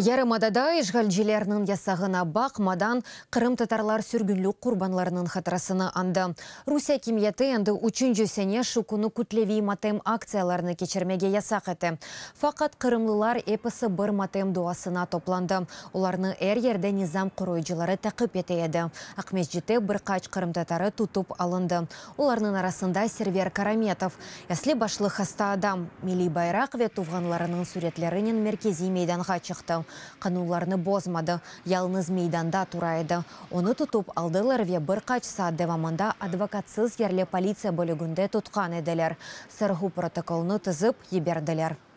Yarımadada işğalcilerniñ yasağına baqmadan, qırımtatarlar sürgünlik qurbanlarınıñ hatırasını añdı. Rusiye akimiyeti endi üçünci sene şu künü kütleviy matem aktsiyalarını keçirmege yasaq ete. Faqat qırımlılar episi bir matem duasına toplandı. Olarnı er yerde nizam qoruyıcıları taqip ete edi. Aqmescitte bir qaç qırımtatarı tutıp alındı. Olarnıñ arasında Server Karametov. Esli-başlı hasta adam, milliy bayraq ve tuvğanlarınıñ süretlerinen merkeziy meydanğa çıqtı. Qanunlarnı bozmadı, yalıñız meydanda tura edi. Onı tutıp aldılar ve bir qaç saat devamında advokatsız yerli politsiya bölüginde tutqan ediler. Sorğu protokolını tizip yiberdiler.